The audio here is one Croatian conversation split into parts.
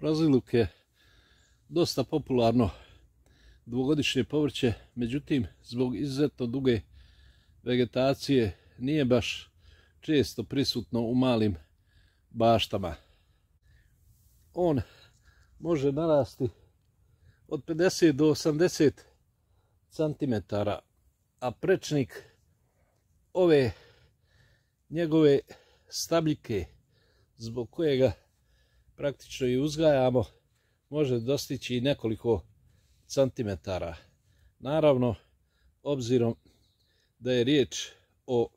Praziluk je dosta popularno dvogodišnje povrće, međutim zbog izuzetno duge vegetacije nije baš često prisutno u malim baštama. On može narasti od 50 do 80 cm, a prečnik ove njegove stabljike, zbog kojega praktično i uzgajamo, može dostići i nekoliko centimetara. Naravno, obzirom da je riječ o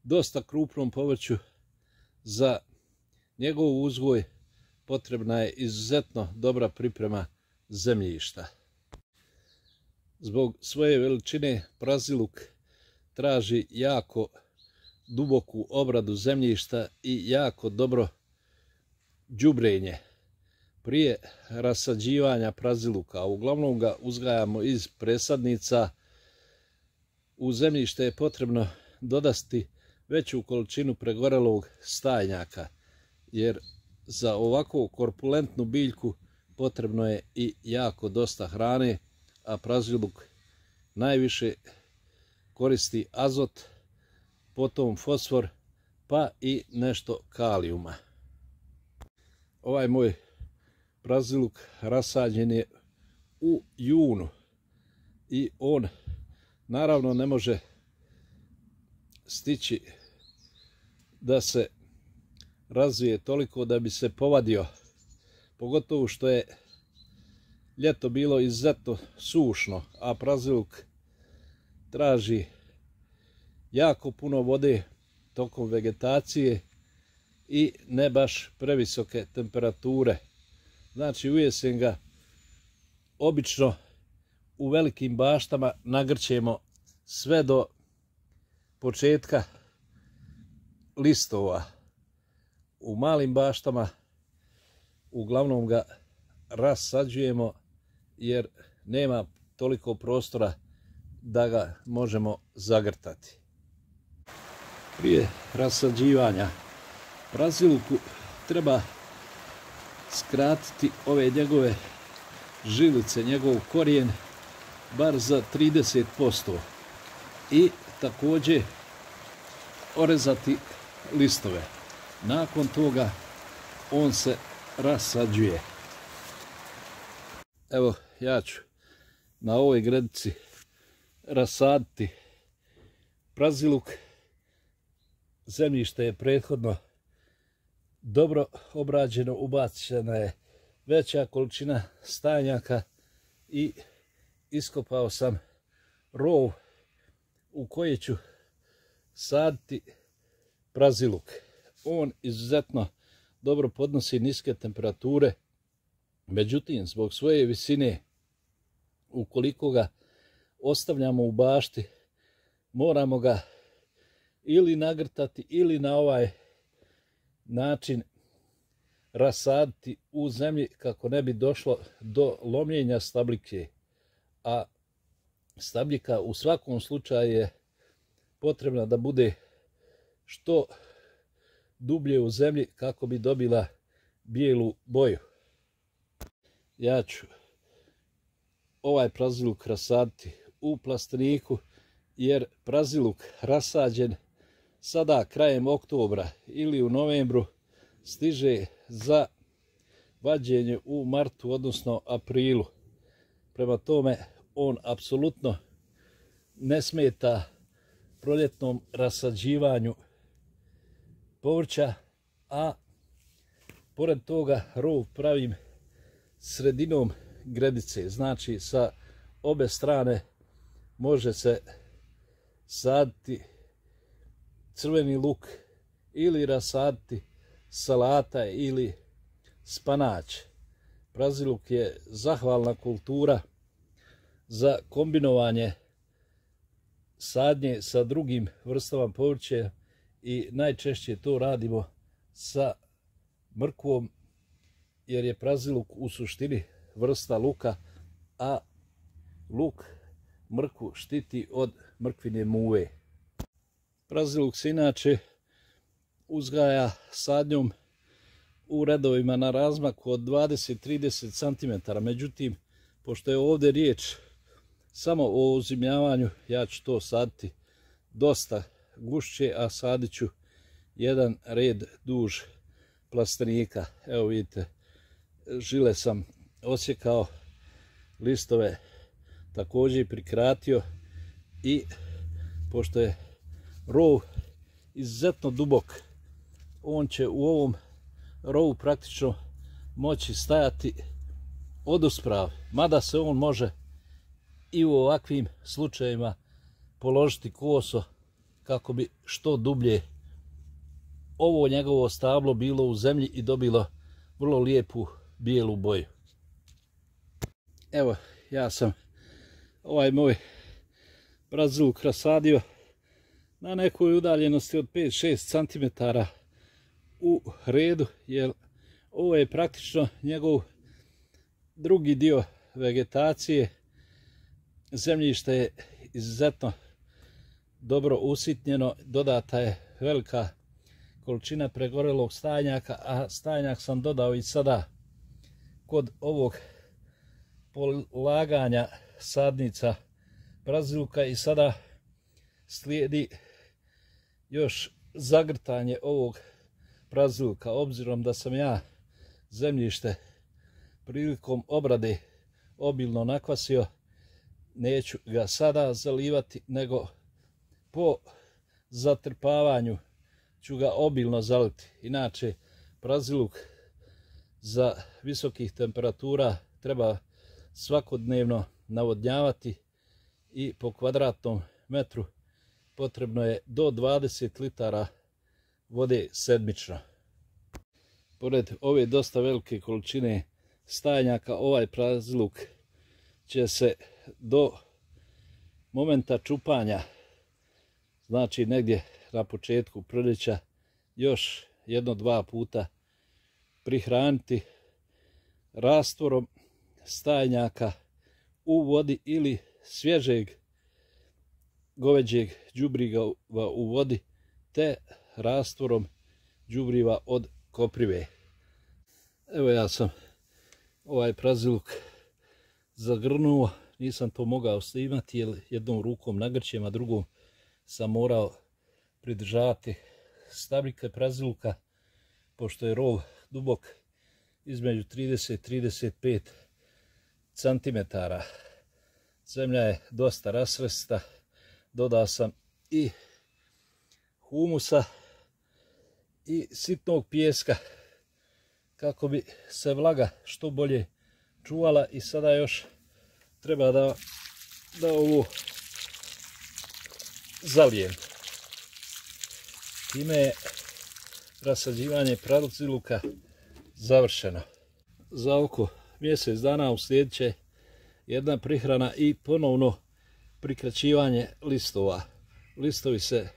dosta krupnom povrću, za njegov uzgoj potrebna je izuzetno dobra priprema zemljišta. Zbog svoje veličine praziluk traži jako duboku obradu zemljišta i jako dobro đubrenje prije rasađivanja praziluka. Uglavnom ga uzgajamo iz presadnica. U zemljište je potrebno dodati veću količinu pregorelog stajnjaka, jer za ovakvu korpulentnu biljku potrebno je i jako dosta hrane, a praziluk najviše koristi azot, potom fosfor, pa i nešto kalijuma. Ovaj moj praziluk rasađen je u junu i on naravno ne može stići da se razvije toliko da bi se povadio, pogotovo što je ljeto bilo izuzetno sušno, a praziluk traži jako puno vode tokom vegetacije i ne baš previsoke temperature. Znači u jesen ga obično u velikim baštama nagrćemo sve do početka listova. U malim baštama uglavnom ga rasađujemo jer nema toliko prostora da ga možemo zagrtati. Prije rasađivanja praziluku treba skratiti ove njegove žilice, njegov korijen bar za 30% i također orezati listove. Nakon toga on se rasađuje. Evo, ja ću na ovoj gredici rasaditi praziluk. Zemljište je prethodno dobro obrađeno, ubačena je veća količina stajnjaka i iskopao sam rov u koji ću saditi praziluk. On izuzetno dobro podnosi niske temperature, međutim zbog svoje visine, ukoliko ga ostavljamo u bašti, moramo ga ili nagrtati ili na ovaj način rasaditi u zemlji kako ne bi došlo do lomljenja stabljike. A stabljika u svakom slučaju je potrebna da bude što dublje u zemlji kako bi dobila bijelu boju. Ja ću ovaj praziluk rasaditi u plasteniku, jer praziluk rasađen sada krajem oktobra ili u novembru stiže za vađenje u martu, odnosno aprilu. Prema tome, on apsolutno ne smeta proljetnom rasađivanju povrća, a pored toga rov pravim sredinom gredice. Znači sa obe strane može se saditi crveni luk ili rasaditi salata ili spanać. Praziluk je zahvalna kultura za kombinovanje sadnje sa drugim vrstama povrća i najčešće to radimo sa mrkvom, jer je praziluk u suštini vrsta luka, a luk mrkvu štiti od mrkvine muve. Praziluk se inače uzgaja sadnjom u redovima na razmaku od 20-30 cm. Međutim, pošto je ovdje riječ samo o uzimljavanju, ja ću to saditi dosta gušće, a sadit ću jedan red duž plastenika. Evo vidite, žile sam osjekao, listove također prikratio i pošto je rov izuzetno dubok, on će u ovom rovu praktično moći stajati odusprav, mada se on može i u ovakvim slučajevima položiti koso kako bi što dublje ovo njegovo stablo bilo u zemlji i dobilo vrlo lijepu bijelu boju. Evo, ja sam ovaj moj braziluk rasadio na nekoj udaljenosti od 5-6 cm u redu, jer ovo je praktično njegov drugi dio vegetacije. Zemljište je izuzetno dobro usitnjeno, dodata je velika količina pregorelog stajnjaka, a stajnjak sam dodao i sada kod ovog polaganja sadnica braziluka i sada slijedi još zagrtanje ovog braziluka. Obzirom da sam ja zemljište prilikom obrade obilno nakvasio, neću ga sada zalivati, nego po zatrpavanju ću ga obilno zaliti. Inače, braziluk za visokih temperatura treba svakodnevno navodnjavati i po kvadratnom metru potrebno je do 20 litara vode sedmično. Pored ove dosta velike količine stajnjaka, ovaj braziluk će se do momenta čupanja, znači negdje na početku proljeća, još 1-2 puta prihraniti rastvorom stajnjaka u vodi ili svježeg goveđeg đubriva u vodi, te rastvorom đubriva od koprive. Evo, ja sam ovaj braziluk zagrnuo, nisam to mogao snimati jer jednom rukom nagrćem, a drugom sam morao pridržavati stabljike braziluka, pošto je rov dubok između 30-35 cm. Zemlja je dosta rasvrsta, dodao sam i humusa i sitnog pijeska kako bi se vlaga što bolje čuvala, i sada još treba da ovo zalijem. Time je rasađivanje braziluka završeno. Za oko mjesec dana uslijedit će jedna prihrana i ponovno prikraćivanje listova. Listovi se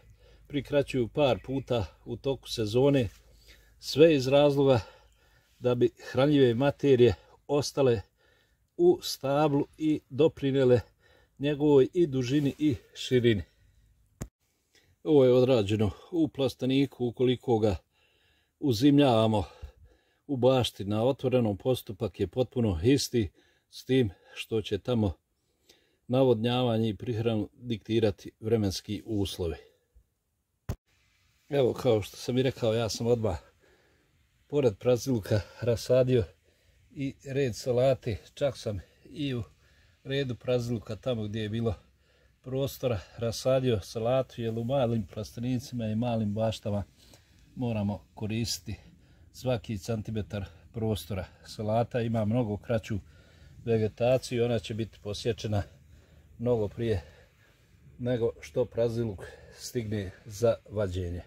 prikraćuju par puta u toku sezone, sve iz razloga da bi hranljive materije ostale u stablu i doprinijele njegovoj i dužini i širini. Ovo je odrađeno u plasteniku. Ukoliko ga uzimljavamo u bašti na otvorenom, postupak je potpuno isti, s tim što će tamo navodnjavanje i prihranu diktirati vremenski uslovi. Evo, kao što sam i rekao, ja sam odmah pored braziluka rasadio i red salate. Čak sam i u redu braziluka, tamo gdje je bilo prostora, rasadio salatu, jer u malim plastenicima i malim baštama moramo koristiti svaki centimetar prostora. Salata ima mnogo kraću vegetaciju, ona će biti posječena mnogo prije nego što braziluk stigne za vađenje.